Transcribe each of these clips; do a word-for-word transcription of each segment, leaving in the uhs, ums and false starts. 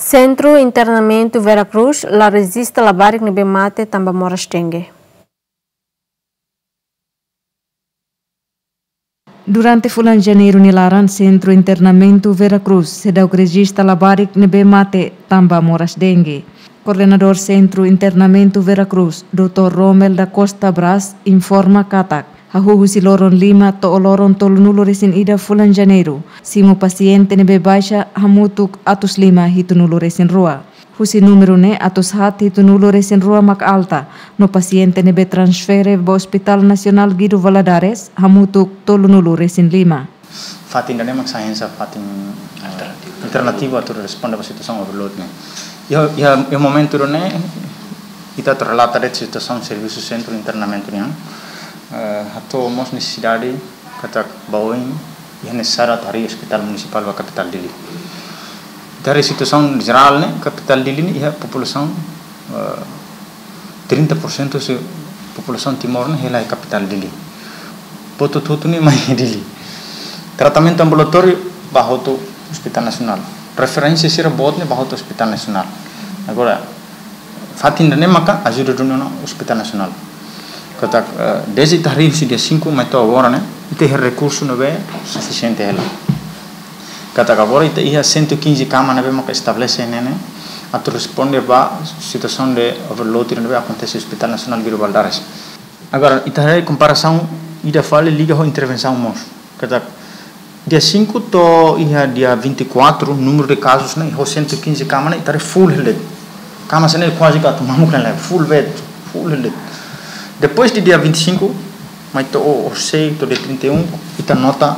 Sentru Internamentu Vera Cruz la rejista labarik ne'ebé mate tanba moras dengue. Durante fulan Janeiru nia laran, Sentru Internamentu Vera Cruz seidauk rejista labarik ne'ebé mate tanba moras dengue. Koordenadór Sentru Internamentu Vera Cruz, doutór Romel da Costa Braz, informa katak, hahú husi loron lima to'o loron tolunulu-resin-ida fulan Janeiru, simu pasiente ne'ebé baixa hamutuk atus lima hitunulu-resin-rua. Husi númeru ne'e atus haat hitunulu-resin-rua mak alta, no pasiente ne'ebé transfere ba Hospital Nasionál Guido Valadares hamutuk tolunulu-resin-lima. Fatin ida-ne'e mak sai hanesan fatin, eh, alternativu atu responde ba situasaun overload ne'e. Iha, iha, iha momentu ida-ne'e, ita atu relata de'it situasaun servisu sentru internamentu nian, eh, hato'o mós nesesidade katak ba oin iha nesesáriu atu harii ospitál munisipál ba kapitál Dili. Ita haree situasaun jerál ne'e, kapitál Dili ne'e iha populasaun, eh, trinta por cento husi populasaun Timor ne'e hela iha kapitál Dili. Buat hotu-hotu ne'e mai Dili. Tratamentu ambulatóriu bá hotu Hospital Nasionál. Referénsia sira boot ne'e bá hotu Hospital Nasionál. Agora, fatin ida-ne'e maka ajuda duni ona Hospital Nasionál. Katak, eh, dezde ita harii husi dia cinco mai to'o agora ne'e, ita iha rekursu ne'ebé sufisiente hela. Katak agora ita iha cento e quinze kama ne'ebé maka estabelese ne'e, ne'e atu responde ba situasaun de overload ne'ebé akontese Hospital Nasionál Guido Valadares. Agora, ita haree komparasaun ida fali liga ho intervensaun mós. Katak, dia cinco to'o iha dia vinte e quatro, númeru de kazus ne'e, ho cento e quinze kama ne'e, ita haree full hela de'it. Kama sira ne'e kuaze ka atu mamuk hela, full de'it, full hela de'it. Depois de dia vinte e cinco, mai to'o, orsei, to'o dia trinta e um, ita nota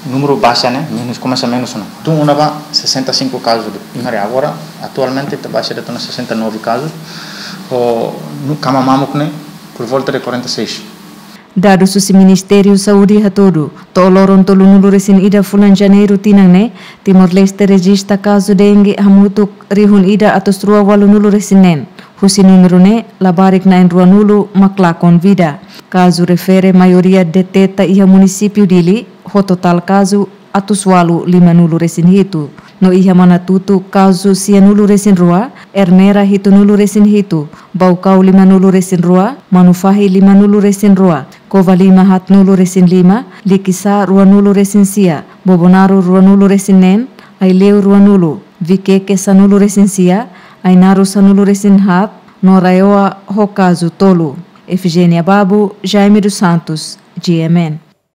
númeru baixa ne'e, menus, komesa menus ona. Tun ona ba sessenta e cinco kazus, imi haree agora, atualmente ita baixa de'it ona sessenta e nove kazus, ho nu-, kama mamuk ne'e, por volta de quarenta e seis. Dadus husi Ministériu Saúde hatudu, to'o loron tolunulu-resin-ida fulan Janeiru tinan ne'e, Timor-Leste rejista kazu dengue hamutuk rihun ida atus rua ualunulu-resin-neen. Husi númeru ne'e, labarik na'in-ruanulu mak lakon vida. Kazu refere maioria deteta iha munisípiu Dili, ho totál kazu atus ualu limanulu-resin-hitu. No iha Manatuto kazu sianulu-resin-rua, Ermera hitunulu-resin-hitu, Baucau limanulu-resin-rua, Manufahi limanulu-resin-rua, Covalima haatnulu-resin-lima, Likisá ruanulu-resin-sia, Bobonaro ruanulu-resin-neen, Aileu ruanulu, Viqueque sanulu-resin-sia, Ainaro sanulu-resin-haat, no RAEOA ho kazu tolu. Efigénia Babo, Jaime dos Santos, G M N.